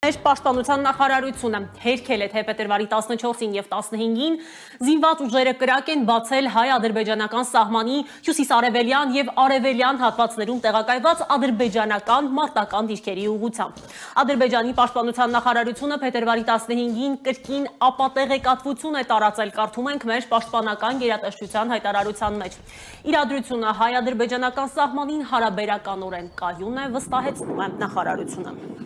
Մեր պաշտպանության նախարարությունը հերքել է, թե փետրվարի 14-ին եւ 15-ին զինված ուժերը կրակ են բացել հայ-ադրբեջանական սահմանի հյուսիսարևելյան եւ արևելյան հատվածներում տեղակայված ադրբեջանական մարտական դիրքերի ուղղությամբ։ Ադրբեջանի պաշտպանության նախարարությունը փետրվարի 15-ին կրկին ապատեղեկատվություն է տարածել, կարդում ենք մեր պաշտպանական գերատեսչության հայտարարության մեջ։ Իրադրությունը հայ-ադրբեջանական սահմանին հարաբերականորեն կայուն է, վստահեցնում է նախարարությունը։